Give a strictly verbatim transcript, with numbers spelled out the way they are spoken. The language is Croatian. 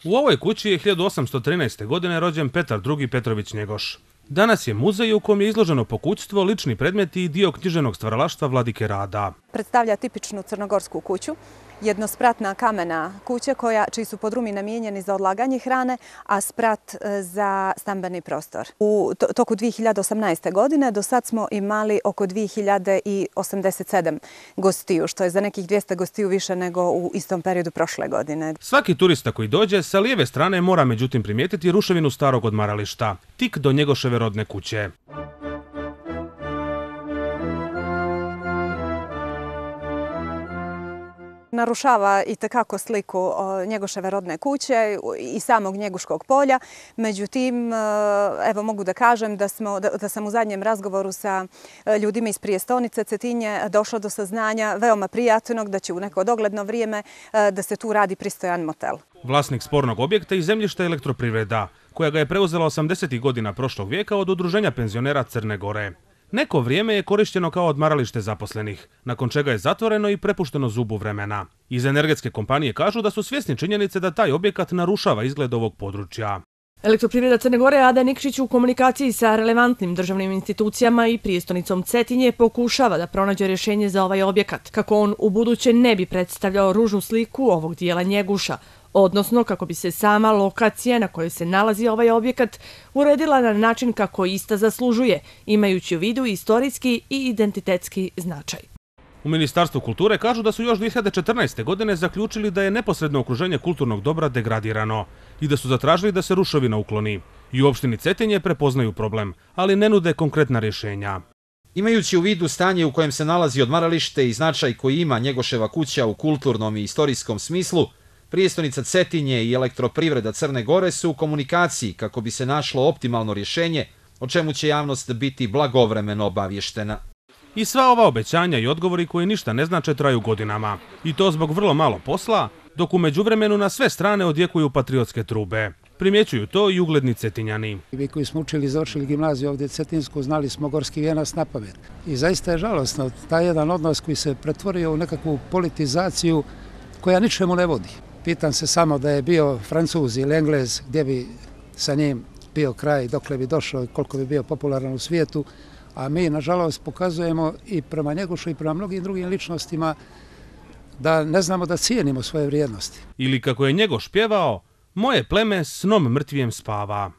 U ovoj kući je hiljadu osamsto trinaeste. godine rođen Petar drugi. Petrović Njegoš. Danas je muzej u kojem je izloženo pokućstvo, lični predmeti i dio književnog stvaralaštva Vladike Rada. Predstavlja tipičnu crnogorsku kuću, jednospratna kamena kuća koja, čiji su podrumi namijenjeni za odlaganje hrane, a sprat za stambeni prostor. U toku dvije hiljade osamnaeste. godine do sad smo imali oko dvije hiljade osamdeset sedam gostiju, što je za nekih dvjesto gostiju više nego u istom periodu prošle godine. Svaki turista koji dođe sa lijeve strane mora međutim primijetiti ruševinu starog odmarališta, tik do Njegoševe rodne kuće. Narušava i tekako sliku Njegoševe rodne kuće i samog Njeguškog polja. Međutim, evo mogu da kažem da, smo, da, da sam u zadnjem razgovoru sa ljudima iz prijestolnice Cetinje došla do saznanja veoma prijatnog da će u neko dogledno vrijeme da se tu radi pristojan motel. Vlasnik spornog objekta i zemljišta Elektroprivreda, koja ga je preuzela osamdesetih godina prošlog vijeka od Udruženja penzionera Crne Gore. Neko vrijeme je korišteno kao odmaralište zaposlenih, nakon čega je zatvoreno i prepušteno zubu vremena. Iz energetske kompanije kažu da su svjesni činjenice da taj objekat narušava izgled ovog područja. Elektroprivreda Crne Gore Ada Nikšić u komunikaciji sa relevantnim državnim institucijama i prijestolnicom Cetinje pokušava da pronađe rješenje za ovaj objekat, kako on u buduće ne bi predstavljao ružnu sliku ovog dijela Njeguša, odnosno kako bi se sama lokacija na kojoj se nalazi ovaj objekat uredila na način kako ista zaslužuje, imajući u vidu istorijski i identitetski značaj. U Ministarstvu kulture kažu da su još dvije hiljade četrnaeste. godine zaključili da je neposredno okruženje kulturnog dobra degradirano i da su zatražili da se ruševina ukloni. I u opštini Cetinje prepoznaju problem, ali ne nude konkretna rješenja. Imajući u vidu stanje u kojem se nalazi odmaralište i značaj koji ima Njegoševa kuća u kulturnom i istorijskom smislu, prijestolnica Cetinje i Elektroprivreda Crne Gore su u komunikaciji kako bi se našlo optimalno rješenje, o čemu će javnost biti blagovremeno obavještena. I sva ova obećanja i odgovori koji ništa ne znače traju godinama. I to zbog vrlo malo posla, dok u međuvremenu na sve strane odjekuju patriotske trube. Primjećuju to i ugledni Cetinjani. Vi koji smo učili i završili gimnaziju ovdje Cetinsku, znali smo Gorski vijenac na pamet. I zaista je žalostno taj jedan odnos koji se pretvorio u nekakvu politizaciju koja ničemu ne vodi. Pitam se samo da je bio Francuz ili Englez, gdje bi sa njim bio kraj, dokle bi došao i koliko bi bio popularan u svijetu, a mi, nažalost, pokazujemo i prema Njegošu i prema mnogim drugim ličnostima da ne znamo da cijenimo svoje vrijednosti. Ili kako je Njegoš pjevao, moje pleme snom mrtvijem spava.